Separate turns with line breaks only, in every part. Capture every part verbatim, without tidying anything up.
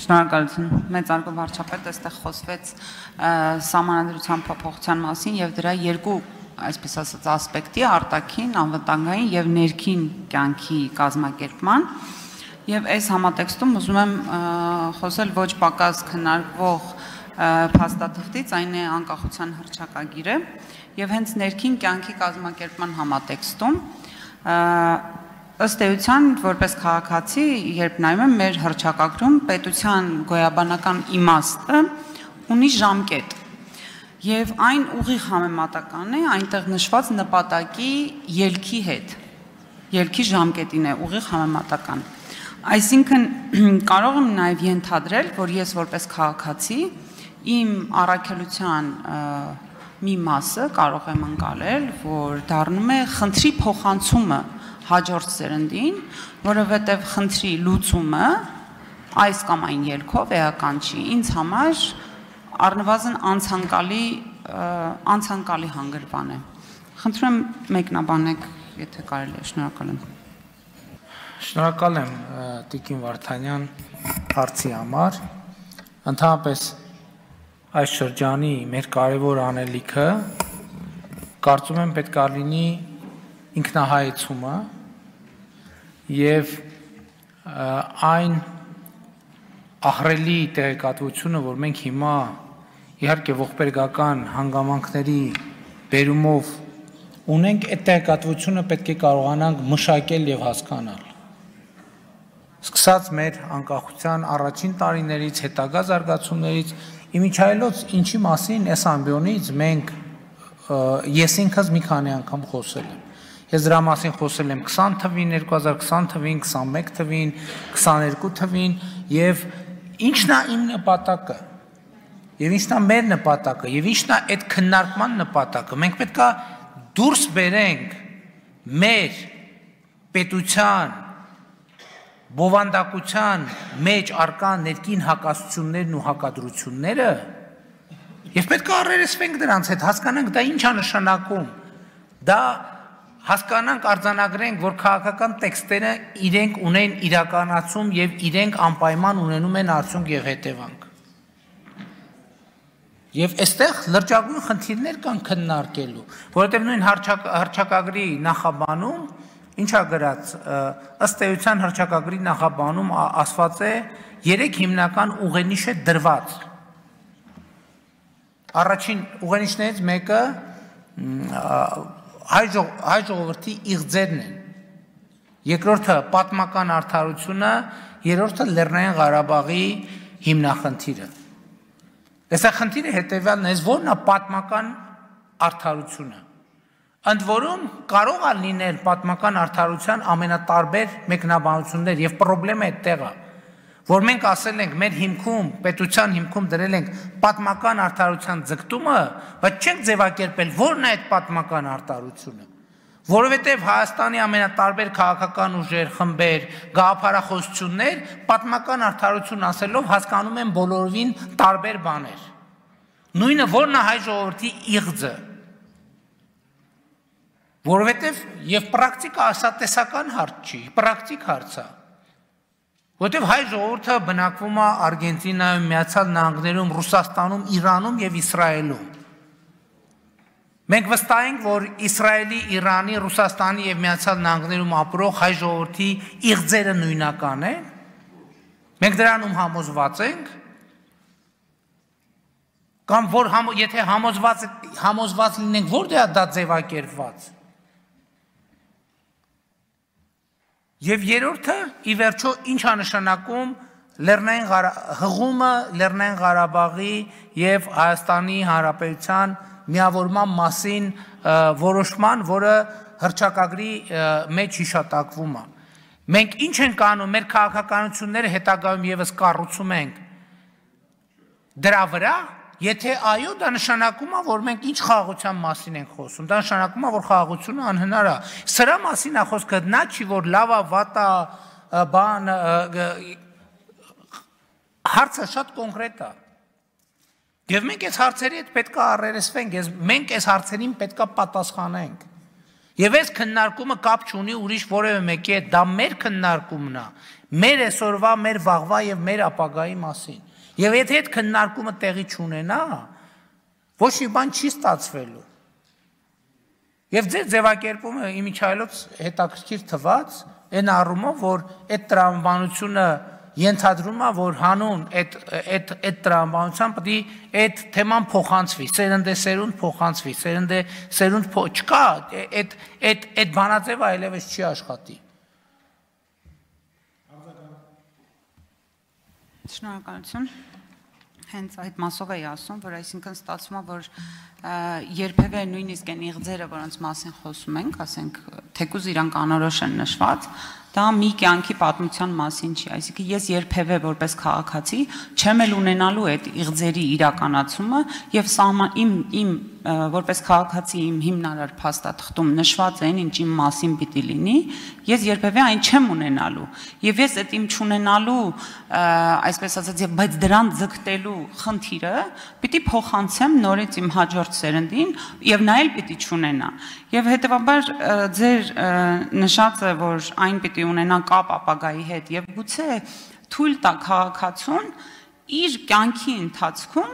Շնորհակալություն, մեծարգո վարչապետ, այստեղ խոսվեց սահմանադրության փոփոխության մասին եւ դրա երկու, այսպես ասած, ասպեկտի, արտաքին, անվտանգային եւ ներքին կյանքի կազմակերպման եւ այս համատեքստում ուզում եմ խոսել ոչ պակաս քննարկվող փաստաթղթից, այն է անկախության հռչակագիրը եւ հենց ներքին կյանքի կազմակերպման համատեքստում ըստ էության, որպես քաղաքացի, երբ նայում եմ մեր հռչակագրում, պետության գոյաբանական իմաստը ունի ժամկետ եւ այն ուղիղ համեմատական է այնտեղ նշված նպատակի ելքի հետ, ելքի ժամկետին է ուղիղ համեմատական։ Այսինքն կարող եմ նաեւ ենթադրել, որ ես որպես քաղաքացի իմ առաքելության մի մասը կարող եմ ընկալել, որ դառնում է խնդրի փոխանցումը հաջորդ սերնդին, որովհետև խնդրի լուծումը այս կամ այն ելքով էական չի, ինձ համար առնվազն անցանկալի անցանկալի հանգրվան է։ Խնդրում եմ մեկնաբանեք, եթե կարելի է, շնորհակալ եմ։
Շնորհակալ եմ Տիկին Վարդանյան հարցի համար։ Ընդհանրապես այս շրջանի մեր կարևոր անելիքը կարծում եմ պետք է լինի ինքնահայեցումը եւ այն ահռելի տեղեկատվությունը, որ մենք հիմա իհարկե ողբերգական հանգամանքների բերումով ունենք, այդ տեղեկատվությունը պետք է կարողանանք մշակել եւ հասկանալ։ Սկսած մեր անկախության առաջին տարիներից, հետագա զարգացումներից, իմիջայլոց ինչի մասին այս ամբիոնից մենք ես ինքս մի քանի անգամ խոսել եմ։ Ես դրա մասին խոսել եմ քսան թվին, երկու հազար քսան թվին, քսանմեկ թվին, քսաներկու թվին եւ ինչն է իմ նպատակը։ Եվ ինչն է մեր նպատակը, եւ ինչն է այդ քննարկման նպատակը։ Մենք պետք է դուրս բերենք մեր պետության բովանդակության մեջ արկա ներքին հակասություններն ու հակադրությունները եւ պետք է առերեսվենք դրանց հետ, հասկանանք դա ինչ է նշանակում։ Դա հասկանանք, արձանագրենք, որ քաղաքական տեքստերը իրենք ունեն իրականացում եւ իրենք անպայման ունենում են արդյունք եւ հետևանք։ Եվ այստեղ լրջագույն խնդիրներ կան քննարկելու, որովհետեւ նույն հռչակագրի նախաբանում ինչ է գրած, ըստ էության հռչակագրի նախաբանում ասված է երեք հիմնական ուղենիշ է դրված։ Առաջին ուղենիշներից մեկը հայ ժողովրդի իղձերն են, երկրորդը պատմական արդարությունը, երրորդը Լեռնային Ղարաբաղի հիմնախնդիրը։ Այստեղ խնդիրը հետևյալն է, որն է պատմական արդարությունը։ Ընդ որում կարող է լինել պատմական արդարության ամենատարբեր մեկնաբանություններ եւ խնդրեմը այդտեղ է, որ մենք ասել ենք մեր հիմքում, պետության հիմքում դրել ենք պատմական արդարության ձգտումը, բայց չենք ձևակերպել որն է այդ պատմական արդարությունը, որովհետեւ Հայաստանի ամենատարբեր քաղաքական ուժեր, խմբեր, գաղափարախոսություններ պատմական արդարություն ասելով հասկանում են բոլորովին տարբեր բաներ։ Նույնը որն է հայ ժողովրդի իղձը, որովհետև եւ պրակտիկա ասատեսական հարց չի, պրակտիկ հարց է։ Որովհետև հայ ժողովուրդը բնակվում է Արգենտինայում, Միացյալ Նահանգներում, Ռուսաստանում, Իրանում եւ Իսրայելում։ Մենք վստահ ենք, որ Իսրայելի, Իրանի, Ռուսաստանի եւ Միացյալ Նահանգներում ապրող հայ ժողովրդի իղձերը նույնական են։ Մենք դրանում համոզված ենք, կամ որ եթե համոզված համոզված լինենք, որտեղ է դա ձևակերպված։ Եվ երրորդը, ի վերջո, ինչ է նշանակում Լեռնային հղումը Լեռնային Ղարաբաղի եւ Հայաստանի Հանրապետության միավորման մասին որոշման, որը հռչակագրի մեջ հիշատակվում է։ Մենք ինչ ենք անում, մեր քաղաքականությունները հետագայում եւս կառուցում ենք դրա վրա, եթե այո, դա նշանակում է, որ մենք ինչ խաղաղության մասին ենք խոսում, դա նշանակում է, որ խաղաղությունը անհնար է։ Սրա մասին է խոսքը, նա չի, որ լավ է, վատ է, բան, հարցը շատ կոնկրետ է։ Եվ մենք այս հարցերի հետ պետք է առերեսվենք, մենք այս հարցերին պետք է պատասխանենք։ Եվ այս քննարկումը կապ չունի ուրիշ որևէ մեկի հետ, դա մեր քննարկումն է, մեր այսօրվա, մեր վաղվա եւ մեր ապագայի մասին։ Եվ եթե այդ քննարկումը տեղի չունենա, ոչ մի բան չի ստացվելու։ Եվ ձեր ձևակերպումը իմիջայլոց հետաքրքիր թվաց, այն առումով, որ այդ տրամաբանությունը ենթադրում է, որ հանուն այդ այդ այդ տրամաբանության պետք է այդ թեման փոխանցվի, սերնդե սերունդ փոխանցվի, սերնդե սերունդ չկա, այդ այդ այդ բանաձևը այլևս չի աշխատի։
Շնորհակալություն։ Հենց այդ մասով էի ասում, որ այսինքն ստացվում է, որ երբևէ նույնիսկ այն իղձերը, որոնց մասին խոսում ենք, ասենք, թեկուզ իրանք անորոշ են նշված, դա մի կյանքի պատմության մասին չի, այսինքն ես երբևէ որպես քաղաքացի չեմ էլ ունենալու այդ իղձերի իրականացումը եւ սահման իմ իմ որպես քաղաքացի իմ հիմնարար փաստաթղթում նշված են ինչ իմ մասին պիտի լինի, ես երբևէ այն չեմ ունենալու եւ ես այդ իմ չունենալու, այսպես ասած, եւ բայց դրան ձգտելու խնդիրը պիտի փոխանցեմ նորից իմ հաջորդ սերնդին եւ նա էլ պիտի չունենա։ Եվ հետեւաբար ձեր նշածը, որ այն պիտի ունենա կապ ապագայի հետ եւ գուցե թույլ տա քաղաքացուն իր կյանքի ընթացքում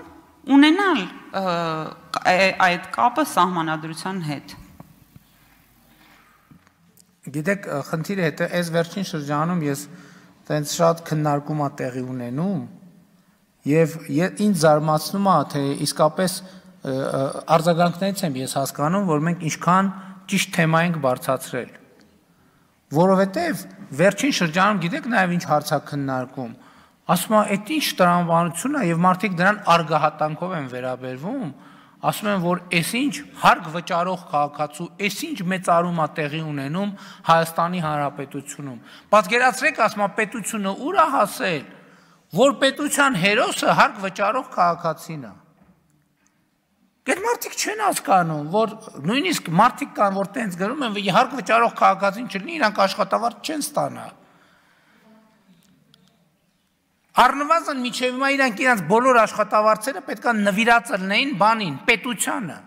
ունենալ այդ կապը սահմանադրության հետ։
Գիտեք, խնդիրը հետո այս վերջին շրջանում ես տենց շատ քննարկում ա տեղի ունենում եւ ինձ զարմացնում է, թե իսկապես արձագանքներից եմ ես հասկանում, որ մենք ինչքան ճիշտ թեմա ենք բարձրացրել։ Որովհետեւ վերջին շրջանում գիտեք նաեւ ինչ հարց է քննարկում։ Ասում եմ, այդ ինչ տրամաբանություն է եւ մարդիկ դրան արգահատանքով են վերաբերվում, ասում են, որ այսինչ հարկ վճարող քաղաքացու, այսինչ մեծարում է տեղի ունենում Հայաստանի Հանրապետությունում։ Պատկերացրեք, ասում եմ, պետությունը ուր է հասել, որ պետության հերոսը հարկ վճարող քաղաքացին է։ Այդ մարդիկ չեն հասկանում, որ նույնիսկ մարդիկ կան, որ տենց գրում են, որ հարկ վճարող քաղաքացին չլինի, իրանք աշխատավարձ չեն ստանա։ Առնվազն միջև հիմա իրանք իրանք բոլոր աշխատավարձերը պետք է նվիրած լինեին բանին, պետությանը։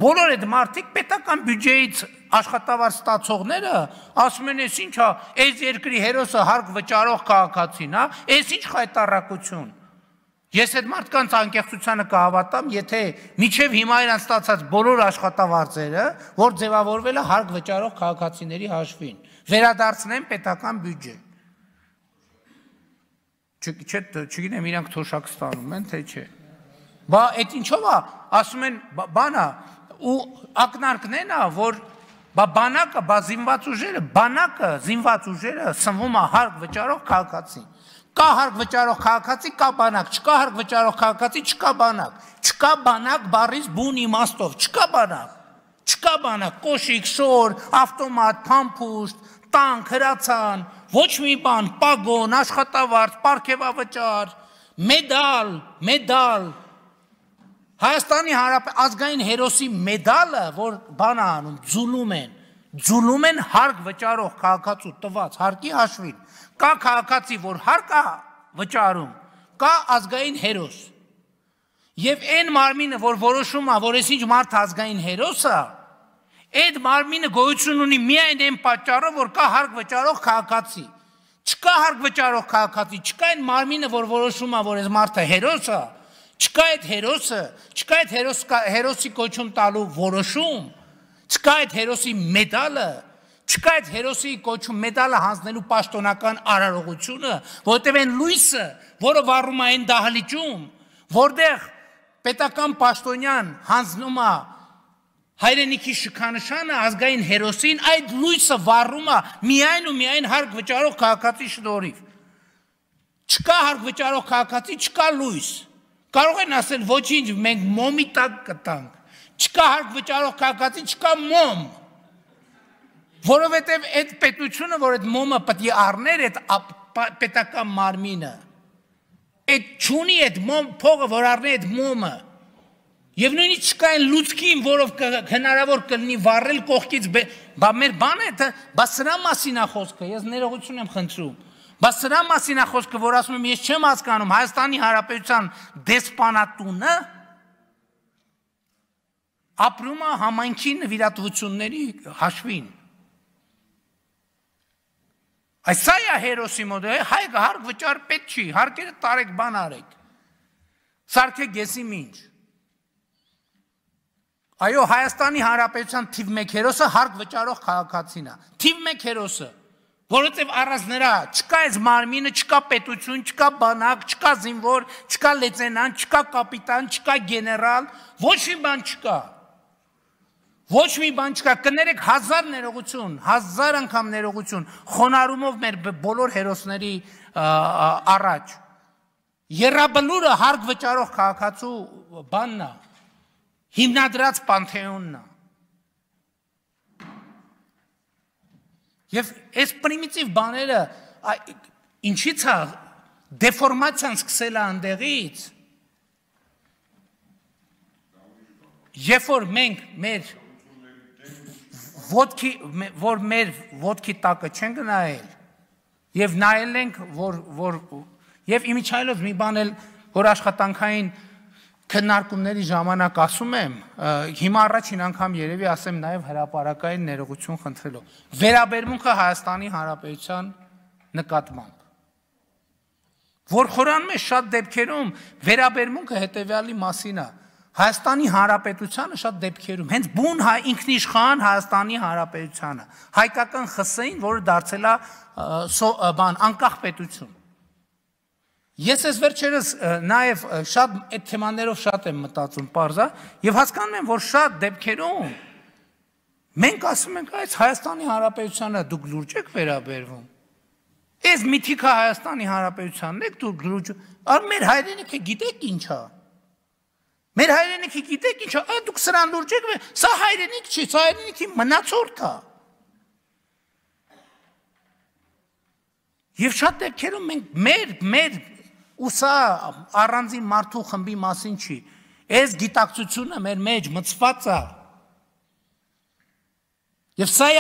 Բոլոր այդ մարդիկ պետական բյուջեից աշխատավարձ ստացողները ասում են, այս ինչ է, այս երկրի հերոսը հարկ վճարող քաղաքացին է, այս ինչ խայտառակություն։ Ես այդ մարդկանց անկեղծությանը կհավատամ, եթե միջև հիմա իրանք ստացած բոլոր աշխատավարձերը, որ ձևավորվել է հարկ վճարող քաղաքացիների հաշվին, վերադարձնեն պետական բյուջե։ Չգիտեմ, իրանք թոշակ ստանում են, թե չէ։ Բա այդ ինչով է, ասում են, բանա, ու ակնարկն են, որ բանակը, բա զինված ուժերը, բանակը, զինված ուժերը սնվում է հարկ վճարող քաղաքացին։ Կա հարկ վճարող քաղաքացի, կա բանակ, չկա հարկ վճարող քաղաքացի, չկա բանակ։ Չկա բանակ բառից բուն իմաստով, չկա բանակ։ Չկա բանակ, կոշիկ, շոր, ավտոմատ, փամփուշտ, տանկ, հրացան, ոչ մի բան, պագոն, աշխատավարձ, պարգևավճար, մեդալ, մեդալ։ Հայաստանի Հանրապետության ազգային հերոսի մեդալը, որ բան անում, ձուլում են, ձուլում են հարկ վճարող քաղաքացու տված հարկի հաշվին։ Կա քաղաքացի, որ հարկ է վճարում, կա ազգային հերոս։ Եվ այն մարմինը, որ որոշում է, որ այսինչ մարդ ազգային հերոս է, այդ մարմինը գոյություն ունի միայն այն պատճառով, որ կա հարկ վճարող քաղաքացի։ Չկա հարկ վճարող քաղաքացի, չկա այն մարմինը, որ որոշում է, որ այս մարդը հերոս է, չկա այդ հերոսը, չկա այդ հերոսի կոչում տալու որոշում, չկա այդ հերոսի մեդալը, չկա այդ հերոսի կոչում մեդալը հանձնելու պաշտոնական արարողությունը, որտեղ այն լույսը, որը վառում է այն դահլիճում, որտեղ պետական պաշտոնյան հանձնում է հայրենիքի շքանշանը ազգային հերոսին, այդ լույսը վառում է միայն ու միայն հարկ վճարող քաղաքացի շնորհիվ։ Չկա հարկ վճարող քաղաքացի, չկա լույս։ Կարող են ասել ոչինչ, մենք մոմի տակ կտանք։ Չկա հարկ վճարող քաղաքացի, չկա մոմ։ Որովհետև այդ պետությունը, որ այդ մոմը պետք է առներ այդ պետական մարմինը, այդ չունի այդ մոմ փողը, որ առնի այդ մոմը։ Եվ նույնիսկ չկա այն լուցկին, որով հնարավոր կլինի վառել կողքից, բա մեր բանը է, բա սրա մասին է խոսքը, ես ներողություն եմ խնդրում, բա սրա մասին է խոսքը, որ ասում եմ, ես չեմ հասկանում Հայաստանի Հանրապետության դեսպանատունը, ապրում է համայնքի նվիրատվությունների հաշվին։ Այս սա է հերոսի մոդելը, հայ հարկ վճար պետք չի, հարկերը տարեք բան արեք, սարքեք եսի մինչ։ Այո, Հայաստանի Հանրապետության թիվ մեկ հերոսը հարկ վճարող քաղաքացին է, թիվ մեկ հերոսը, որովհետև առանց նրա չկա այս մարմինը, չկա պետություն, չկա բանակ, չկա զինվոր, չկա լեյտենանտ, չկա կապիտան, չկա գեներալ, ոչ մի բան չկա։ Ոչ մի բան չկա, կներեք հազար ներողություն, հազար անգամ ներողություն, խոնարհումով մեր բոլոր հերոսների առաջ։ Եռաբլուրը հարկ վճարող քաղաքացու բանն է, հիմնադրած պանթեոնն է։ Եվ այս պրիմիտիվ բաները ինչից է դեֆորմացիան սկսել է այնտեղից, երբ որ մենք մեր ոտքի, որ մեր ոտքի տակը չենք նայել, և նայել ենք, որ, որ, և իմիջայլով մի բան էլ, որ աշխատանքային քննարկումների ժամանակ ասում եմ, հիմա առաջին անգամ երևի ասեմ նաև հրապարակային ներողություն խնդրելով, վերաբերմունքը Հայաստանի Հանրապետության նկատմամբ, որ խորանում է շատ դեպքերում, վերաբերմունքը հետևյալի մասին է, Հայաստանի Հանրապետությանը շատ դեպքերում, հենց բուն ինքնիշխան Հայաստանի Հանրապետությանը, հայկական ԽՍՀ-ին, որը դարձել է անկախ պետություն։ Ես ես վերջերս նաև շատ այդ թեմաներով շատ եմ մտածում պարզա և հասկանում եմ, որ շատ դեպքերում մենք ասում ենք, այս Հայաստանի Հանրապետությանը դուք լուրջ եք վերաբերվում։ Այս միթիկը Հայաստանի Հանրապետությանն եք դուք լուրջ, առ մեր հայրենիքը գիտեք ինչ է։ Մեր հայրենիքի գիտեք ինչ է, դուք սրան լուրջ եք, սա հայրենիք չի, սա հայրենիքի մնացորդ է։ Եվ շատ դեպքերում մենք մեր, մեր, ու սա առանձին մարդու խմբի մասին չի, այս գիտակցությունը մեր մեջ մտցված է։ Եվ սա,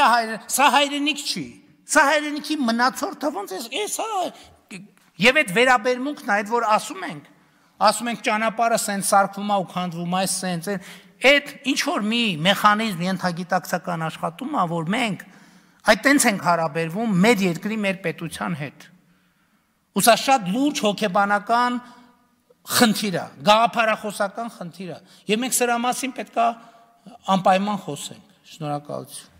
սա հայրենիք չի, սա հայրենիքի մնացորդը ոնց է, սա, և այդ վերաբերմունքն է, այդ որ ասում ենք, ասում ենք ճանապարհը սենց սարքվում է ու քանդվում է, սենց, այդ ինչ-որ մի մեխանիզմ ենթագիտակցական աշխատում է, որ մենք այդ տենց ենք հարաբերվում մեր երկրի, մեր պետության հետ։ Ու սա շատ լուրջ հոգեբանական խնդիր է, գաղափարախոսական խնդիր է, և մենք սրա մասին պետք է անպայման խոսենք։ Շնորհակալություն։